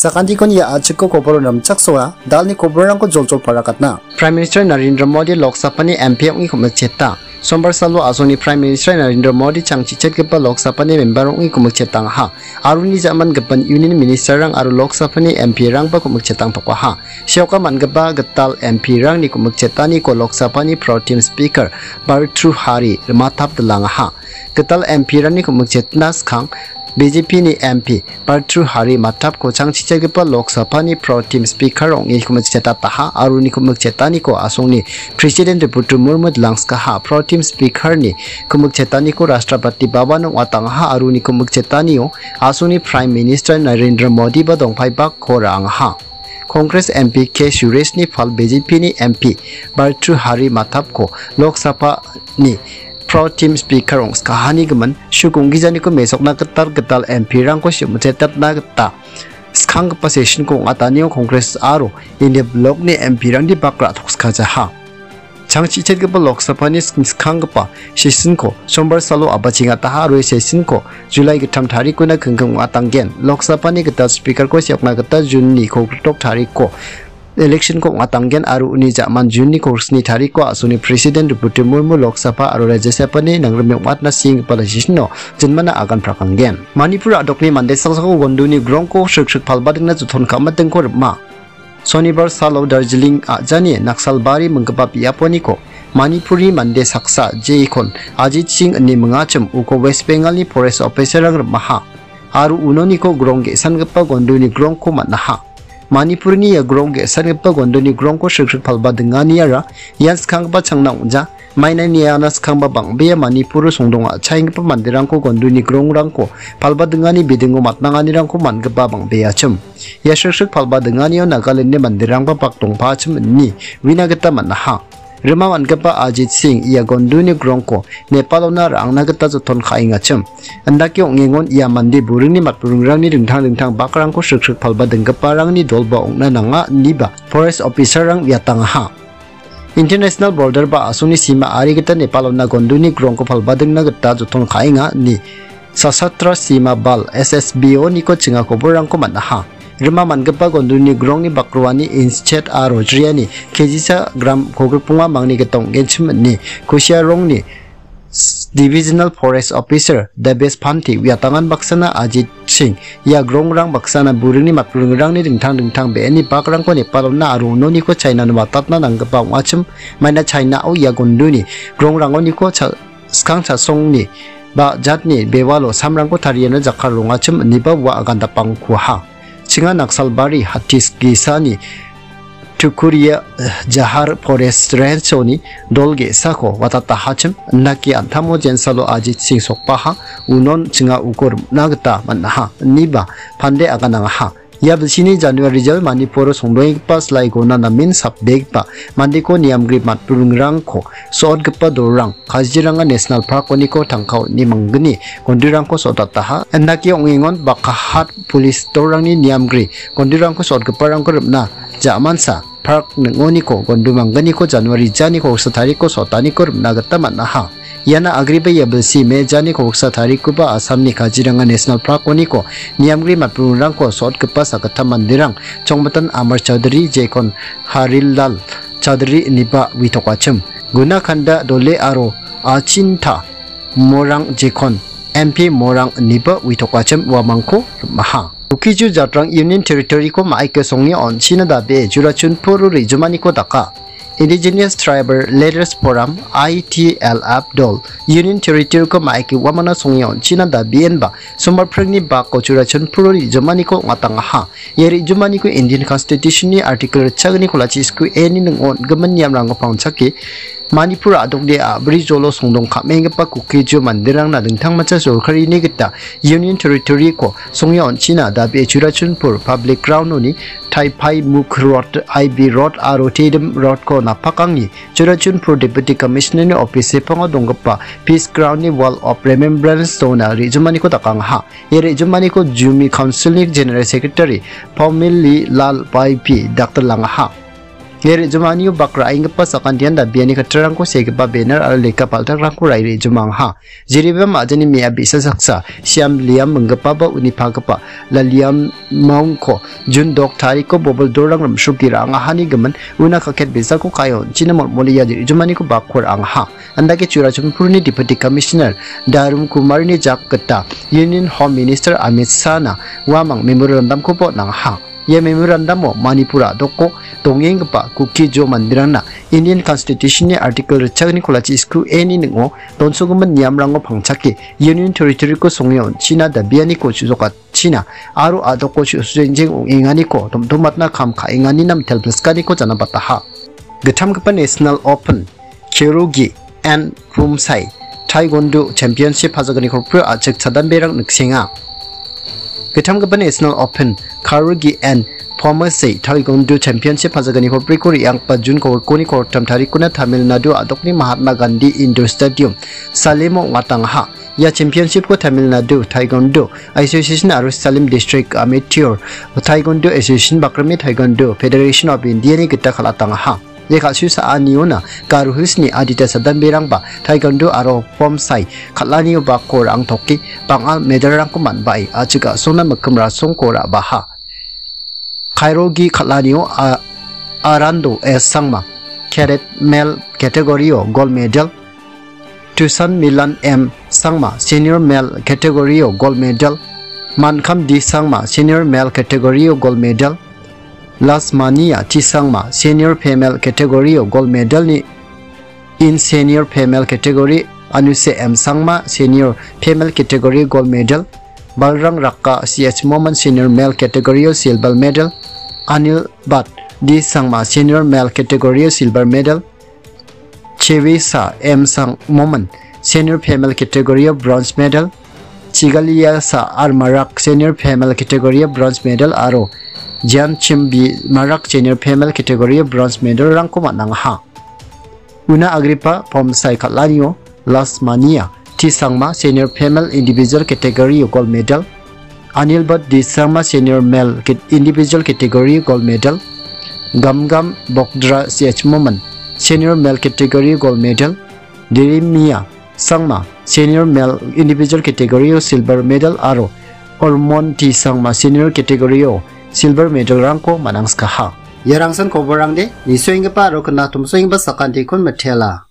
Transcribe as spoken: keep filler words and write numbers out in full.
Sakantikon ia a·chiko koboro namchaksoa, dalni koborrangko joljol parakatna. Prime Minister Narendra Modi Lok Sabhani M P ong·e komikcheta. Sombar salo a·songni Prime Minister Narendra Modi changchichetgipa Lok Sabhani member ong·e komikchetangaha. Aro uni ja·man gipin Union Ministerrang aro Lok Sabhani M P-rangba komikchetangtokaha. Seoka man·gipa gital M P-rangni komikchetaniko Lok Sabhani Pro Tem Speaker Bhartrihari Mathap dilangaha. Gital M P-rangni komikchetna skang B J P-ni M P Bhartrihari Mathapko changchichetgipa Lok Sabhani Pro Tem Speaker ong·e komikchetataha aro uni komikchetaniko a·songni President Draupadi Murmu dilangskaha. Pro Tem Speaker-ni komikchetaniko Rashtrapati Bhavan ong·atangaha aro uni komikchetanio a·songni Prime Minister Narendra Modi-ba dongpaibako ra·angaha. Congress M P K Sureshni pal B J P-ni M P Bhartrihari Mathapko Lok Sabha-ni Pro Tem Speaker ong·skahani gimin suk ong·gijaniko mesokna gital gital M P-rangko sim-, setatna gita skanggipa session-ko ong·atanio Congress aro India Block-ni M P-rangni bak ra·tokskajaha. Changchichetgipa Lok Sabha-ni sing-, skanggipa session-ko sombar salo a·bachengataha aro ia session-ko July gittam tarikona kingking ong·atanggen. Lok Sabha-ni gital Speaker-ko seokna gita June-ni kolgrik tariko election-ko ong·atanggen aro uni ja·man June-ni kolgrik sni tariko a·songni President Draupadi Murmu Lok Sabha aro Rajya Sabha-ni nangrime ong·atna senggipa session-o jinmana agan prakanggen. Manipur a·dokni mande saksako gonduni grongko sriksrik palbadingna joton ka·matingko rima. Sonibar salo Darjeeling a·jani Naksalbari minggipa biaponiko Manipurni mande saksa jekon Ajit Singh ine mingachim uko West Bengalni forest officer-rang rimaha. Aro unoniko grong ge·sangipa gonduni grongko man·aha. Manipurni ia grong ge·sangipa gonduni grongko sriksrik palbadingniara ian skanggipa changna ong·ja. Mainani iana skangba bang·bea Manipuro songdong a·chaenggipa manderangko gonduni grongrangko palbadingni bidingo matnanganirangko man·gipa bang·beachim. Ia sriksrik palbadinganio Nagalandni manderangba bak dongpaachim ine uina gita man·aha. Rima man·gipa Ajit Singh ia gonduni grongko Nepalona ra·angna gita joton ka·engachim. Indake ong·engon ia mande buringni matburingrangni dingtang dingtang bakrangko sriksrik palbadinggiparangni dolba ong·na nanga ineba forest officer-rang uiatangaha. International border ba a·songni sima ari gita Nepalona gonduni grongko palbadingna gita joton ka·enga ine Sashastra Sima Bal, S S B O-niko chinga koborrangko man·aha. Rima man·gipa gonduni grongni bakroani inch chet aro jriani kejisa gram kolgrikbonga mangni gita ong·genchim ine Kusiarongni Divisional Forest Officer Debesh Pante uiatangan baksana Ajit Singh ia grongrang baksana buringni matburingrangni dingtang dingtang be·eni bakrangko Nepalona aro unoniko Chinano watatna nanggipa ong·achim, maina Chinao ia gonduni grongrangoniko cha-, skang chasongni ba jatni bewalo samrangko tariana jakkalrongachim ineba ua agandapangkuaha. Chinga Naksalbari Hattis gisani Tukuria, eh, Jahar Forest Range-oni dol ge·sako watatahachim, indake an·tamo jensalo Ajit Singh sokbaha, unon chinga uko rim·na gita man·aha, ineba Pante aganangaha. Ia bilsini January jal Manipuro songdoenggipa silaigona namen sapbegipa mandeko niamgri matburingrangko so·otgipa dolrang Kaziranga National Park-oniko tangka on·e manggni gondirangko so·dataha. Indake ong·engon Bakahat police dolrangni niamgri gondirangko so·otgiparangko rim·na ja·mansa park ning·oniko gondu manggniko January jani koksa tariko so·otaniko rim·na gita man·aha. Iana agreba ia bilsi me jani koksa tarikoba Assamni Kaziranga National Park-oniko niamgri matburingrangko so·otgipa sakgittam manderang Chongmatan Amar Chaudhary, Jekon Harilal Chaudhary ineba uitokachim. Guna Kanda Dole aro Achinta Morang Jekon M P Morang ineba uitokachim uamangko rim·aha. Kuki-Zo jatrang Union Territory-ko ma·aike songni on·china dabe Churachandpur re·jomaniko daka. Indigenous Tribal Leaders Forum, I T L F dol Union Territory-ko ma·aike uamangna songni on·china dabe enba sombar pringni bako Churachandpur re·jomaniko ong·atangaha. Ia re·jomaniko Indian Constitution-ni Article ritchagni kolachi sku A-ni ning·o on·gimin niamrangko pangchake Manipur a·dokde a·bri jolo songdong ka·menggipa Kuki-Zo manderangna dingtangmancha sorkarini gita Union Territory-ko songni on·china dabe Churachandpur Public Ground-oni Taipai Mukh Road, I B Road aro Tedim Road-ko napakangni Churachandpur Deputy Commissioner-ni office sepango donggipa Peace Ground-ni Wall of Remembrance-ona re·jomaniko dakangaha. Ia re·jomaniko Zomi Council-ni General Secretary Paumili Lal Baipi daktilangaha. Ia re·jomanio bak ra·enggipa sakantian dabiani kattarangko segipa benar aro lekka paltakrangko ra·e re·jomangaha. Jeriba majani me·a bi·sa saksa, Siam Liam minggipaba uni pagipa La Liam Maungko Jun dok tariko bobil dorang rimsroke ra·angahani gimin una kaket bisako kae on·china molmole ia re·jomaniko bakko ra·angaha. Andake Churachandpurni Deputy Commissioner Darum Kumarni jak gita Union Home Minister Amit Shahna uamang memorandumkoba on·angaha. Ia memorandum-o Manipur a·doko dongenggipa Kuki-Zo manderangna Indian Constitution-ni Article ritchakni kolachi sku A-ni ning·o donsogimin niamrango pangchake Union Territory-ko songe on·china dabianiko chujokachina aro a·doko chu-, sujengjeng ong·enganiko tom·tomatna kam ka·enganina mitel pilskaniko janabataha. Gittamgipa National Open Kyorugi and Pumsai Taekwondo Championship pajaganiko a·chik chadanberang niksenga. Gittamgipa National Open Kyorugi and Pumsai Taekwondo Championship pajaganiko re·anggipa June kolgni kolgittam tarikona Tamil Nadu a·dokni Mahatma Gandhi Indoor Stadium, Salemo ong·atangaha. Ia championship-ko Tamil Nadu Taekwondo Association aro Salem District Amateur Taekwondo Association bakrime Taekwondo Federation of India-ni gita kal·atangaha. Ia ka·su sa·aniona Garo Hills-ni adita sadanberangba Taekwondo aro Pumsai kal·anio bakko ra·angtoke bang·a medal-rangko man·bae a·chik a·songna mikkim rasongko ra·baha. Kyorugi kal·anio a-, Arando S Sangma, Cadet Male category-o gold medal, Tusan Milan M Sangma, Senior Male category-o gold medal, Mankam D Sangma, Senior Male category-o gold medal, Lasmania T Sangma, Senior Female category-o gold medal-ni in Senior Female category, Anuse M Sangma, Senior Female category gold medal, Balrang Rakka C H Moman, Senior Male category-o silver medal, Anil Bhat D Sangma, Senior Male category-o silver medal, Chevisa M Sang Moman, Senior Female category-o bronze medal, Chigaliasa R Marak, Senior Female category-o bronze medal aro Jian Chim B Marak, Senior Female category-o bronze medal-rangko man·angaha. Una Agripa Pumsai kal·anio Lasmania T Sangma, Senior Female Individual category-o gold medal, Anil Bhat D Sangma, Senior Male cat-, Individual category gold medal, Gamgam Bokdra C H Moman, Senior Male category gold medal, Dirimia Sangma, Senior Male Individual category-o silver medal aro Ormon T Sangma, Senior category-o silver medal-rangko man·angskaha. Ia rangsan koborangde nisoenggipa aro knatomsoenggipa sakantikon mitela.